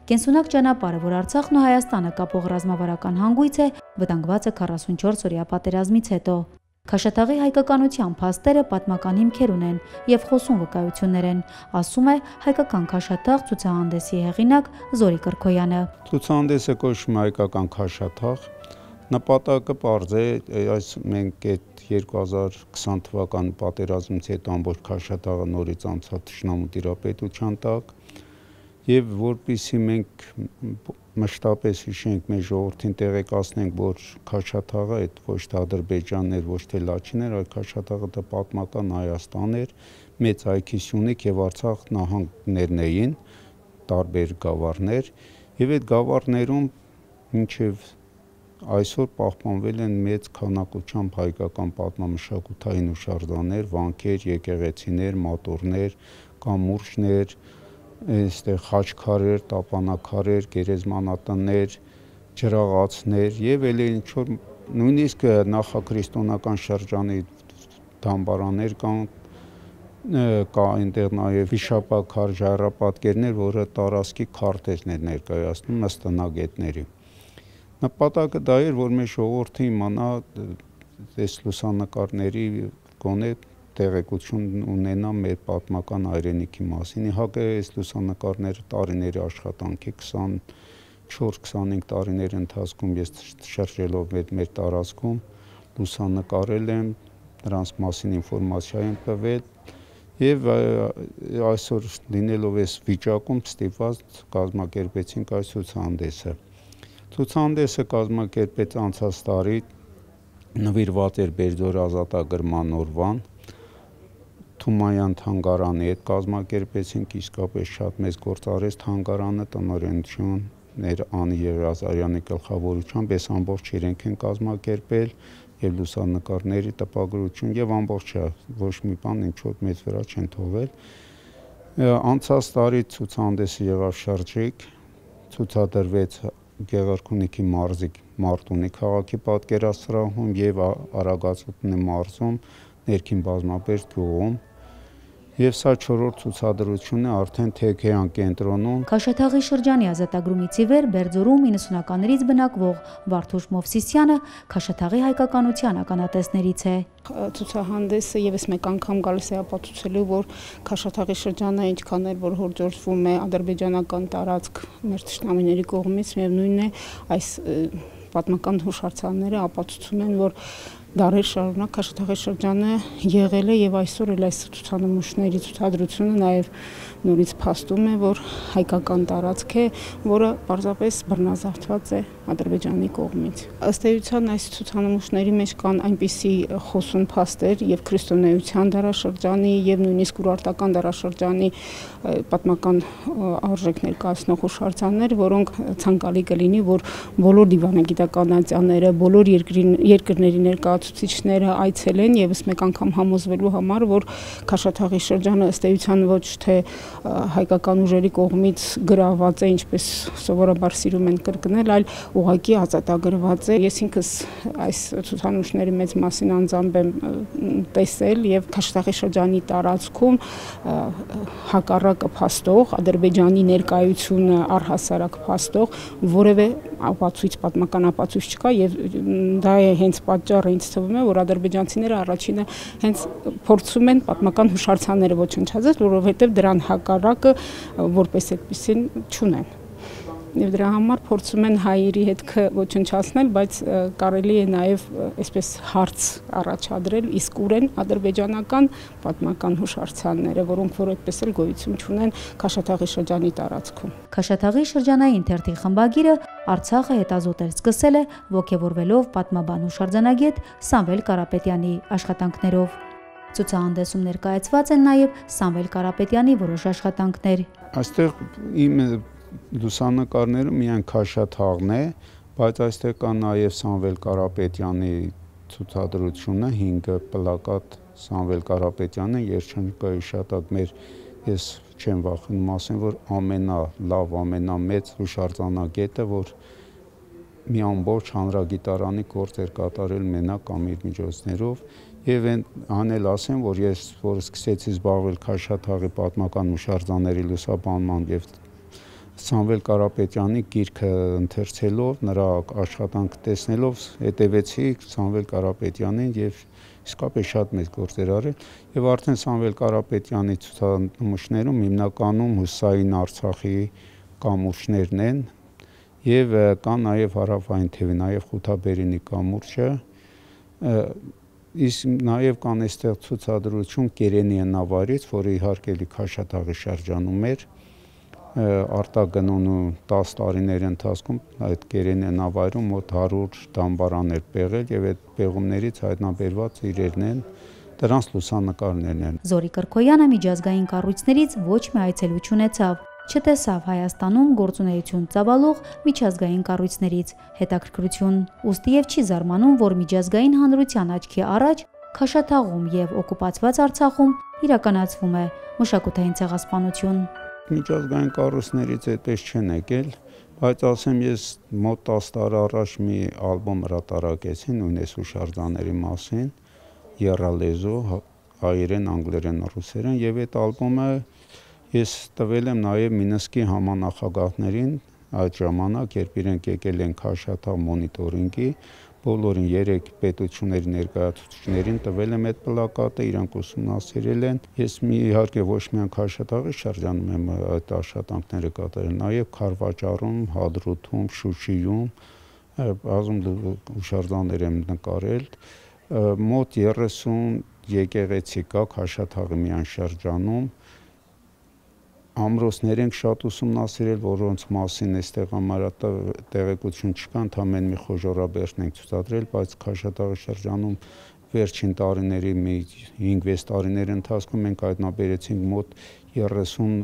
Կենսունակ ճանապարհը, որ Արցախն ու Հայաստանը կապող ռազմավարական հանգույց է, վտանգված է 44-օրյա պատերազմից հետո։ Քաշաթաղի հայկականության փաստերը պատմական հիմքեր ունեն եւ խոսուն վկայություններ են, ասում է հայկական Քաշաթաղ ցուցահանդեսի հեղինակ Զորի Կրքոյանը։ Ցուցահանդեսը կոչվում է հայկական Քաշաթաղ։ Նպատակը պարզ է, այս մենք այդ 2020 թվականի պատերազմից հետո ամբողջ Քաշաթաղը նորից անցավ թշնամու տիրապետության տակ եւ որպեսզի մենք մշտապես հիշենք մեր ժողովրդին տեղեկացնենք, որ Քաշաթաղը այդ ոչ թե Ադրբեջանն էր, ոչ թե Լաչին էր, այլ Քաշաթաղը դա պատմական Հայաստան էր, մեծ Այքիսյունիք եւ Արցախ նահանգներն էին, տարբեր գավառներ եւ այդ գավառներում մինչեւ այսօր պահպանվել են մեծ քանակությամբ հայկական պատմամշակութային հուշարձաններ, վանքեր, եկեղեցիներ, մատորներ, կամուրջներ, այստեղ խաչքարեր, տապանակարեր, գերեզմանատներ, ջրաղացներ եւ էլ ինչ որ նույնիսկ նախաքրիստոնեական շրջանի դամբարաններ կան, կա այնտեղ նաեւ վիշապաքար ժայռապատկերներ, որը տարածքի քարտեզն էր ներկայացնում ըստնագետների։ Նպատակը դա էր, որ մեր ժողովուրդը իմանա այս լուսանկարների գոնե տեղեկություն ունենա մեր պատմական հայրենիքի մասին։ Իհարկե այս լուսանկարները տարիների աշխատանք է, 24-25 տարիների ընթացքում ես շրջելով մեր տարածքում լուսանկարել եմ, նրանց մասին ինֆորմացիա եմ տվել եւ այսօր լինելով այս վիճակում ստիպված կազմակերպեցինք այս ցուցահանդեսը։ Ցուցահանդեսը կազմակերպեց անցած տարի, նվիրված էր Բերձոր ազատագրման օրվան, Թումայան թանգարանի հետ կազմակերպեցինք, իսկապես շատ մեծ գործ արեց թանգարանը, տնօրենություններ Անի Եղիազարյանի գլխավորությամբ, այս ամբողջ իրենք են կազմակերպել եւ լուսանկարների տպագրություն եւ ամբողջը ոչ մի բան ինչ որ մեծ վրա չեն թողել։ Անցած տարի ցուցահանդեսը եղավ շրջիկ, ցուցադրվեց Գեղարքունիքի մարզի Մարտունի քաղաքի պատկերասրահում եւ Արագածոտնի մարզում ներքին բազմապերտ գյուղում եւ սա 4-րդ ցուցադրությունն է արդեն Թեքեյան կենտրոնում։ Քաշաթաղի շրջանի ազատագրումից ի վեր Բերձորում 90-ականներից բնակվող Վարդուշ Մովսիսյանը Քաշաթաղի հայկականության ականատեսներից է։ Ցուցահանդեսը եւս մեկ անգամ գալիս է ապացուցելու, որ Քաշաթաղի շրջանը ինչքան էլ որ հորդորվում է ադրբեջանական տարածք մեր թշնամիների կողմից, միևնույնն է այս պատմական հուշարձանները ապացուցում են, որ դարեր շարունակ Քաշաթաղի շրջանը եղել է եւ այսօր էլ այս ցուցանմուշների ցուցադրությունը նաեւ նորից փաստում է, որ հայկական տարածք է, որը պարզապես բռնազավթված է Ադրբեջանի կողմից։ Ըստ էության այս ցուցանմուշների մեջ կան այնպիսի խոսուն փաստեր եւ քրիստոնեության դարաշրջանի եւ նույնիսկ ուրարտական դարաշրջանի պատմական արժեք ներկայացնող հուշարձաններ, որոնք ցանկալի կլինի, որ բոլոր դիվանագիտականացիաները, բոլոր երկրների ներկայացուցիչները այցելեն եւս մեկ անգամ համոզվելու համար, որ Քաշաթաղի շրջանը ըստ էության ոչ թե հայկական ուժերի կողմից գրաված է, ինչպես սովորաբար սիրում են կրկնել, այլ ուղղակի ազատագրված է։ Ես ինքս այս ցուցանմուշների մեծ մասին անձամբ եմ տեսել եւ Քաշաթաղի շրջանի տարածքում հակառակը փաստող, Ադրբեջանի ներկայությունը առհասարակ փաստող որևէ ապացույց, պատմական ապացույց չկա եւ դա է հենց պատճառը ինձ թվում է, որ ադրբեջանցիները առաջինը հենց փորձում են պատմական հուշարձանները ոչնչացնել, որովհետեւ դրան հակառակը որպես այդպեսին չունեն։ Եվ դրա համար փորձում են հայերի հետքը ոչնչացնել, բայց կարելի է նաև այսպես հարց առաջադրել իսկուրեն ադրբեջանական պատմական հուշարձանները, որոնք որ այդպես էլ գոյություն չունեն Քաշաթաղի շրջանի տարածքում։ Քաշաթաղի շրջանային թերթի խմբագիրը Արցախը հետազոտել սկսել է ոգևորվելով պատմաբան հուշարձանագետ Սամվել Կարապետյանի աշխատանքներով։ Ցուցահանդեսում ներկայացված են նաև Սամվել Կարապետյանի որոշ աշխատանքներ։ Այստեղ իմ լուսանկարները միայն Քաշաթաղն է, բայց այստեղ կա նաև Սամվել Կարապետյանի ցուցադրությունը 5 պլակատ Սամվել Կարապետյանը երջանկայի շատակ մեր ես չեմ վախենում ասեմ, որ ամենալավ, ամենամեծ հուշարձանագետը, որ մի ամբողջ հանրագիտարանի գործ էր կատարել մենակ կամ իր միջոցներով եւ անել ասեմ, որ ես որ սկսեցի զբաղվել Քաշաթաղի պատմական հուշարձանների լուսաբանման եւ Սամվել Կարապետյանի գիրքը ընթերցելով, նրա աշխատանքը տեսնելով հետևեցի Սամվել Կարապետյանին եւ իսկապես շատ մեծ գործեր արել եւ արդեն Սամվել Կարապետյանի ցուցանմուշներում հիմնականում հուսային Արցախի կամուրջներն են եւ կան նաեւ հարավային թևի, նաեւ Խութաբերինի կամուրջը, իսկ նաեւ կան այստեղ ցուցադրություն Կերենի նավարից, որը իհարկե Քաշաթաղի շրջանում էր, արտագնոն ու 10 տարիների ընթացքում այդ Կերենի նավարում մոտ 100 դամբարան էր պեղել եւ այդ պեղումներից հայտնաբերված իրերն են, դրանց լուսանկարներն են։ Զորի Կրկոյանը միջազգային կառույցներից ոչ մի այցելու չունեցավ, չտեսավ Հայաստանում գործունեություն ծավալող միջազգային կառույցներից հետաքրքրություն, ուստի եւ չի զարմանում, որ միջազգային հանրության աչքի առաջ Քաշաթաղում եւ օկուպացված Արցախում իրականացվում է մշակութային ցեղասպանություն։ Միջազգային կառույցներից այդպես չեն եկել, բայց ասեմ ես մոտ 10 տարի առաջ մի ալբոմ հրատարակեցի նույնպես հուշարձանների մասին, եռալեզու, հայերեն, անգլերեն, ռուսերեն եւ այդ ալբոմը ես տվել եմ նաև Մինսկի համանախագահներին այդ ժամանակ, երբ իրենք եկել են Քաշաթաղ մոնիտորինգի, բոլորին 3 պետությունների ներկայացուցիչներին տվել եմ այդ պլակատը, իրանք ուսումնասիրել են։ Ես իհարկե ոչ միայն Քաշաթաղի շրջանում եմ այդ աշխատանքները կատարել, նաև Քարվաճառում, Հադրութում, Շուշիում, բազում հուշարձաններ եմ նկարել, մոտ 30 եկեղեցի կա Քաշաթաղի միայն շրջանում։ Ամրոցներ ենք շատ ուսումնասիրել, որոնց մասին այստեղ տեղեկություն չկա, ընդամենը մի խոժոռաբերդն ենք ցուցադրել, բայց Քաշաթաղի շրջանում վերջին տարիների մի 5-6 տարիների ընթացքում մենք հայտնաբերեցինք մոտ 30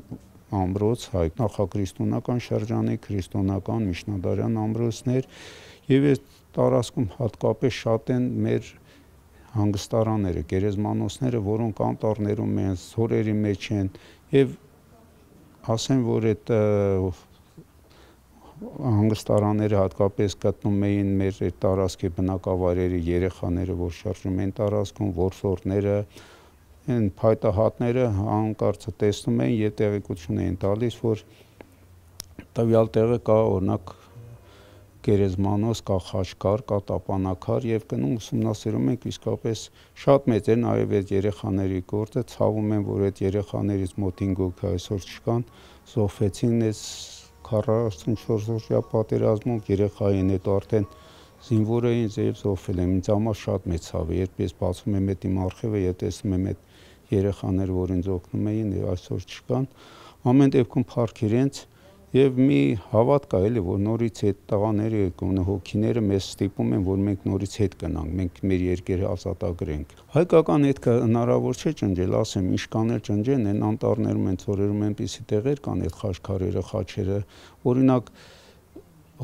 ամրոց, հայ նախաքրիստոնեական շրջանի, քրիստոնեական, միջնադարյան ամրոցներ եւ այս տարածքում հատկապես շատ են մեր հանգստարանները, գերեզմանոցները, որոնք անտառներում են, սորերի մեջ են եւ ասեմ, որ այդ հանգստարանները հատկապես գտնում էին մեր տարածքի բնակավայրերի երեխաները, որ շարժում են տարածքում, որսորդները, այն փայտահատները հանկարծ տեսնում էին եւ տեղեկություն էին տալիս, որ տվյալ տեղը կա օրինակ գերեզմանոց, կա խաչքար, կա տապանակար եւ գնում ուսումնասիրում ենք իսկապես շատ մեծ է նաեւ այդ երեխաների գործը, ցավում եմ, որ այդ երեխաներից մոտ 5 հոգի այսօր չկան, զոհվեցին այս 44-օրյա պատերազմում, երեխային հետո արդեն զինվոր էին եւ զոհվել են։ Ինձ համար շատ մեծ ցավ է, երբ ես բացում եմ այդ իմ արխիվը եւ տեսնում եմ այդ երեխաները, որ ինձ օգնում էին եւ այսօր չկան, ամեն դեպքում փառք իրենց եւ մի հավատ կա էլի, որ նորից այդ տղաները հոգիները մեզ ստիպում են, որ մենք նորից հետ գնանք, մենք մեր երկերը ազատագրենք։ Հայկական հետքը հնարավոր չէ ճնջել, ասեմ, ինչ կանել ճնջեն, այն անտառներում են ծորերում այնպիսի տեղեր կան այդ խաչքարերը, խաչերը, օրինակ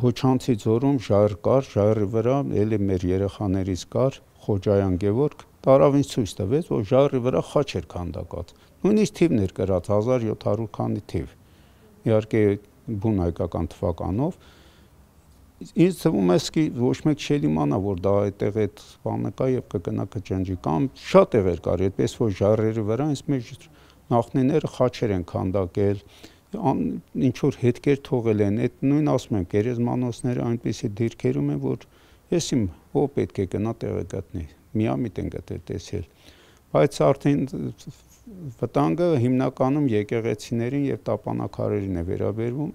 Հոչանցի ձորում ժայռ կար, ժայռի վրա էլի մեր երեխաներից կար Խոջայան Գևորգ, տարավ ինձ ցույց տվեց, որ ժայռի վրա խաչ էր քանդակած։ Նույնիսկ թիվն էր գրած 1700 քանի թիվ։ Իհարկե բուն հայկական թվականով ինձ թվում է ոչ մեկ չիմանա, որ դա այդտեղ այդ բանը կա եւ կգնա կճնջի կամ շատ տեղեր կար, այդպես որ ժայռերի վրա ինձ մեջ նախնիները խաչեր են քանդակել, ինչ որ հետքեր թողել են, այդ նույն ասում եմ, գերեզմանոցները այնպեսի դիրքերում են, որ ես իմ ով պետք է գնա տեղը գտնի, միամիտ են գտել տեսել, բայց արդեն վտանգը հիմնականում եկեղեցիներին եւ տապանակարերին է վերաբերվում,